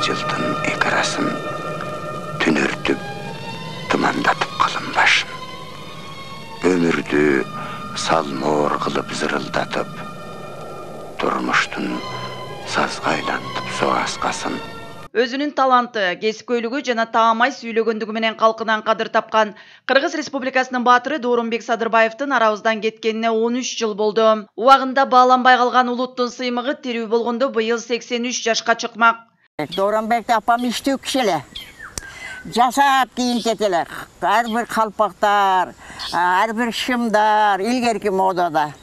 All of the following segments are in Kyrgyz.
жылдын эки арасын түнөртүп, тымандатып калын башын. Өмүрдү салмоор кылып зырылдатып, турмуштун сазга айлантып соаскасын. Өзүнүн таланты, кесипкөйлүгү жана таамай сүйлөгөндүгү менен калкынан кадыр тапкан Кыргыз Республикасынын баатыры Доорунбек Садырбаевдин арабыздан кеткенине 13 жыл болду. Убагында бааланбай калган улуттун сыймыгы тирүү болгондо быйыл 83 жашка чыкмак. Доорунбек апам иштүү киши эле. Жасап кийинтет эле. Ар бир калпактар, ар бир шымдар илгерки модада.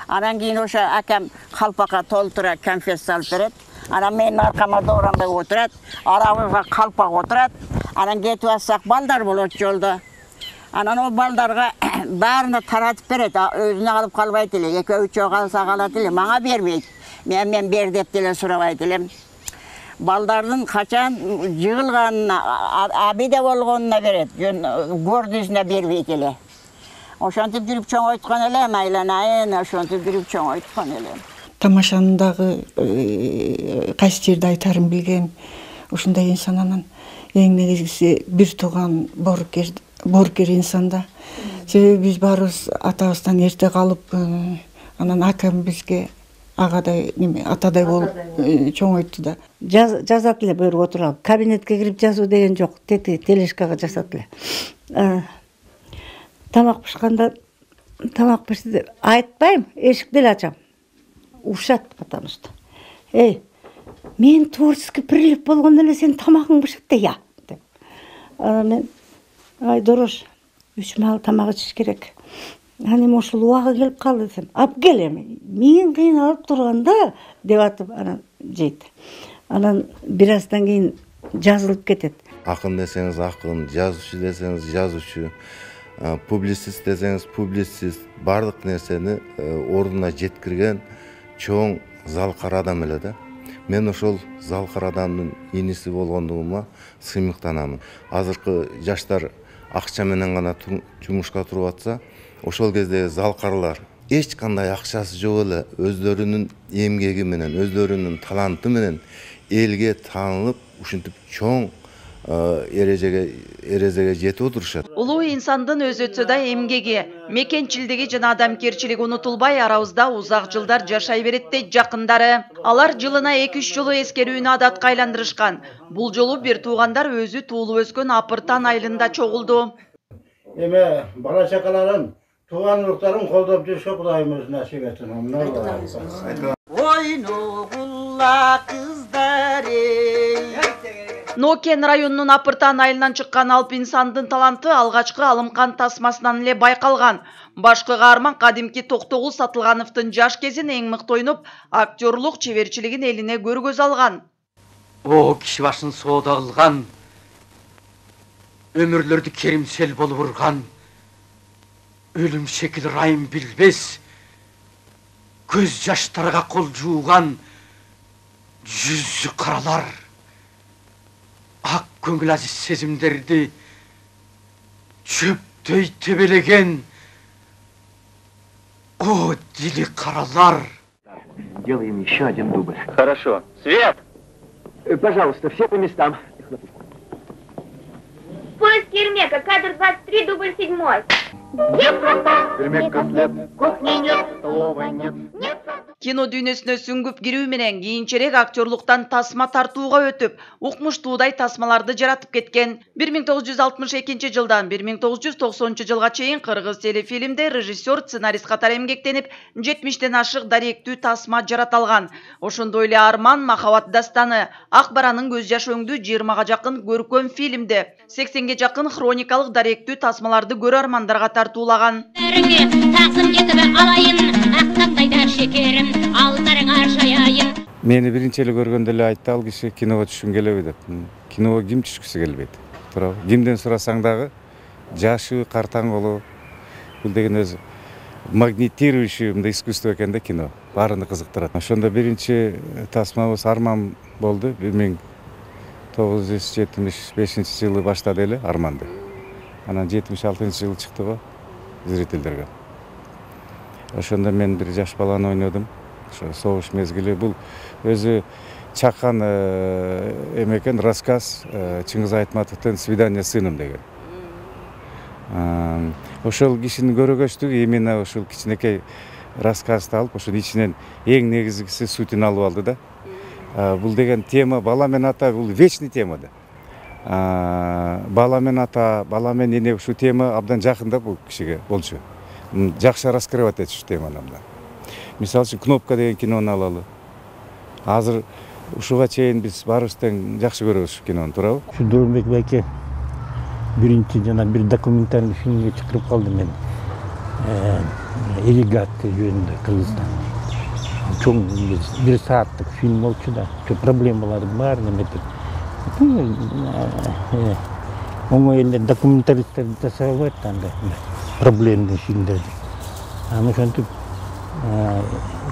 Анан кийин ошо акам калпакка толтура конфет салып берет. Анан менин аркама Доорунбек отурат, арабызга калпак отурат. Анан кетип атсак балдар болот жолдо. Анан ол балдарга баарына таратып берет, өзүнө алып калбайт эле. Экөө-үчөө калса калат эле, мага бербейт. Мен бер деп деле сурабайт элем. Балдардын качан жыгылганына, абиде болгонуна берет, көрдүсүнө бербейт эле. Ошентип жүрүп чоңойткон элем, айланайын, ошентип жүрүп чоңойткон элем. Тамашанын дагы кайсы жерде айтарын билген ушундай инсан, анан эң негизгиси бир тууган боорукер инсан да. Себеби биз баарыбыз атабыздан эрте калып, анан акам бизге агадай атадай болуп чоңойту да. Жазат эле буюруп отуруп, кабинетке кирип жазуу деген жок, тележкага жазат эле. Тамак пышканда, тамак пишти деп айтпайм, эшикти эле ачам. Ушат, потому что. Мен творческий прилив болгондо эле сен тамагың бышат да я. Мен дорош, 3 маал тамак ичиш керек. Анан ошол убагы келип калды десем, ап кел эми. Мен кыйналып турганда деп атып анан жейт. Анан бир аздан кийин жазылып кетет. Акын десеңиз акын, жазуучу десеңиз жазуучу, публицист десеңиз публицист, бардык нерсени ордуна жеткирген чоң залкар адам эле да. Мен ошол залкар адамдын иниси болгондугума сыймыктанамын. Азыркы жаштар акча менен гана жумушка туруп атса, ошол кезде залкарлар эч кандай акчасы жок эле өздөрүнүн эмгеги менен, өздөрүнүн таланты менен элге таанылып, ушинтип чоң эрежеге жетип отурушат. Улуу инсандын өз өтсө да эмгеги, мекенчилдиги жана адамгерчилиги унутулбай арабызда узак жылдар жашай берет дейт жакындары. Алар жылына 2-3 жолу эскерүүнү адатка айландырышкан. Бул жолу бир туугандар өзү туулуп өскөн Апыртан айылында чогулду. Эме бала чакаларын, тууган уруктарын колдоп жүрүшкө Кудайым өзү насип этсин. Ойногулла кыздары. Нокен районунун Апыртан айылынан чыккан алп инсандын таланты алгачкы алымкан тасмасынан эле байкалган. Башкы каарман кадимки Токтогул Сатылгановдун жаш кезин эң мыкты ойноп, актерлук чеберчилигин элине көргөз алган. О киши башын соода кылган, өмүрлөрдү керимсел болуп урган, өлүм шекил райым билбес, көз жаштарга кол жууган, жүзү каралар, ак көңүл азиз сезимдерди чөптөй тебелеген, о дили каралар. Делаем еще один дубль. Хорошо. Свет! Пожалуйста, все по местам. Поиск Ермека, кадр 23, дубль 7. Ермек котлет, кухни нет, столовой нет. Кино дүйнөсүнө сүңгүп кирүү менен кийинчерээк актерлуктан тасма тартууга өтүп, укмуштуудай тасмаларды жаратып кеткен. 1962 жылдан 1990 жылга чейин кыргыз телефилмде режиссер, сценарист катары эмгектенип, 70ден ашык даректүү тасма жараталган. Ошондой эле Арман, Махабат дастаны, Ак баранын көз жаш өңдүү 20га жакын көркөм фильмде, 80ге жакын хроникалык даректүү тасмаларды көрөрмандарга тартуулаган. Мени биринчи эле көргөндө эле айтты ал киши, киного түшкүм келеби деп. Киного ким түшкүсү келбейт? Туурабы? Кимден сурасаң дагы жашы, картаң болуп, бул деген өзү магнитирующий мындай искусство экен да кино. Баарыны кызыктырат. Ошондо биринчи тасмабыз Арман болду. 1975 жылы баштады эле Арманды. Анан 76 жылы чыкты го зрительдерге. Ошондо мен бир жаш баланы ойнодум. Ошо согуш мезгили. Бул өзү чаккан эмекен рассказ Чыңгыз Айтматовдон «Свидание с сыном» деген. Ошол кишинин көрөгөчтүгү именно ошол кичинекей рассказды алып, ошонун ичинен эң негизгиси сутун алып алды да. Бул деген тема бала менен ата, бул вечный тема да. Бала менен ата, бала менен эне ушул тема абдан жакын да бул кишиге болчу. Жакшы раскрывать этиш ушул теманы абдан. Мисалы үчүн «Кнопка» деген кинону алалы. Азыр ушуга чейин биз баарыбыз тең жакшы көрөбүз ушул кинону, туурабы? Ушу Дооронбек байке биринчи жана бир документальный фильмге чакырып калды мени. Ирригат жөнүндө Кыргызстан. Чоң 1 сааттык фильм болчу да. Проблемалардын баарын эметип. Оңой эле документалисттер жасай албайт да андай проблемдүү фильмдерди. Аны ошентип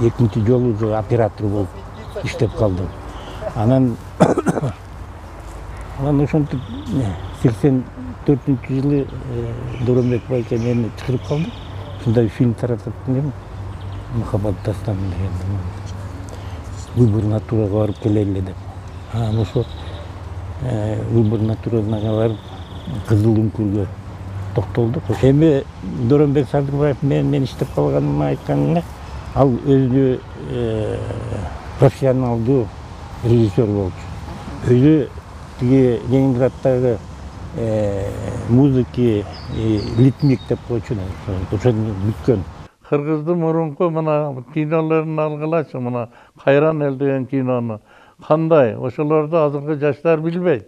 экинчи жолу уже оператор болуп иштеп калдым. Анан ошентип 84-жылы Дооронбек байке мени чакырып калды. Ушундай фильм таратып келем. Махаббат дастаны деген. Выбор натурага барып келели деп. Ошо Выбор натурага барып Кызыл үңкүргө токтолдук. Эми Дооронбек Садырбаев мен иштеп калганымды айтканда, ал өзү профессионалдуу режиссер болчу. Өзү тиги Ленинграддагы музыки ритмик деп койчу да. Ошону бүткөн. Кыргыздын мурунку мына кинолорун алгылачы, мына Кайран эл деген кинону. Кандай? Ошолорду азыркы жаштар билбейт.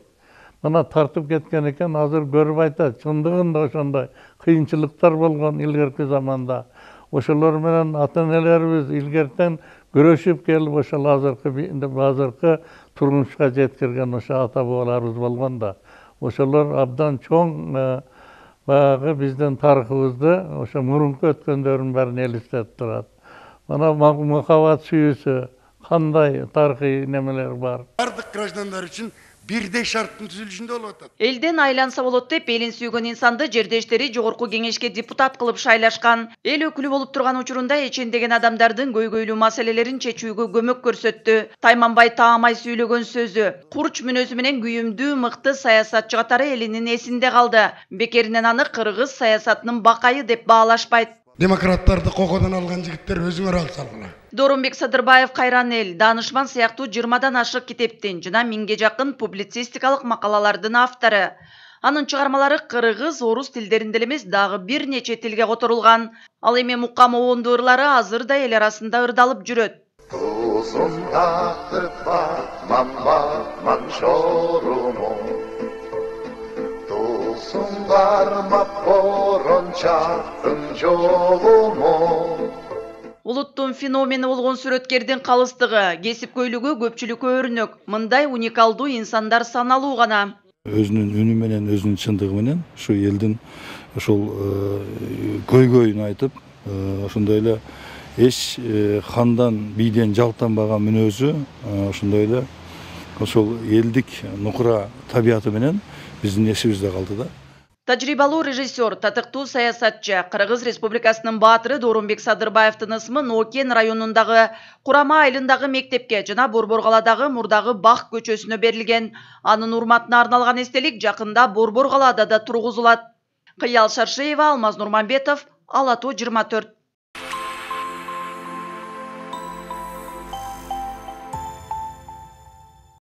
Мына тартып кеткен экен, азыр көрүп айтат. Чындыгында ошондой кыйынчылыктар болгон илгерки заманда. Ошолор менен ата-энелерибиз илгертен күрөшүп келип, ошол азыркы турмушка жеткирген ошо ата-бабаларыбыз болгон да. Ошолор абдан чоң баягы биздин тарыхыбызды, ошо мурунку өткөндөрдүн баарын элестетип турат. Мына махаббат сүйүүсү кандай тарыхый немелер бар. Бардык граждандар үчүн бирдей шарттын түзүлүшүндө болуп атат. Элден айланса болот деп элин сүйгөн инсанды жердештери жогорку кеңешке депутат кылып шайлашкан. Эл өкүлү болуп турган учурунда эчендеген адамдардын көйгөйлүү маселелерин чечүүгө көмөк көрсөттү. Тайманбай таамай сүйлөгөн сөзү, курч мүнөзү менен күйүмдүү, мыкты саясатчы катары элинин эсинде калды. Бекеринен аны кыргыз саясатынын бакайы деп баалашпайт. Демократтарды кокодон алган жигиттер өзүңөр алсалгыла. Дооронбек Садырбаев Кайран эл, Данышман сыяктуу 20дан ашык китептин жана 1000ге жакын публицистикалык макалалардын автору. Анын чыгармалары кыргыз, орус тилдеринде эмес, дагы бир нече тилге которулган. Ал эми мукам обондуу ырлары азыр да эл арасында ырдалып жүрөт. Улуттун феномени болгон сүрөткердин калыстыгы, кесипкөйлүгү көпчүлүккө өрнөк. Мындай уникалдуу инсандар саналуу гана. Өзүнүн үнү менен, өзүнүн чындыгы менен ушу элдин ошол көйгөйүн айтып, ошондой эле эч хандан, бийден жалтанбаган мүнөзү, ошондой эле ошол элдик нукура табияты менен биздин эсибизде калды да. Тажрыйбалуу режиссер, татыктуу саясатчы, Кыргыз Республикасынын баатыры Дооронбек Садырбаевдин ысмын Окен районундагы Курама айылындагы мектепке жана Борборкаладагы мурдагы Бак көчөсүнө берилген. Анын урматына арналган эстелик жакында Борборкалада да тургузулат. Кыял Шаршеева, Алмаз Нурманбетов, Ала Тоо 24.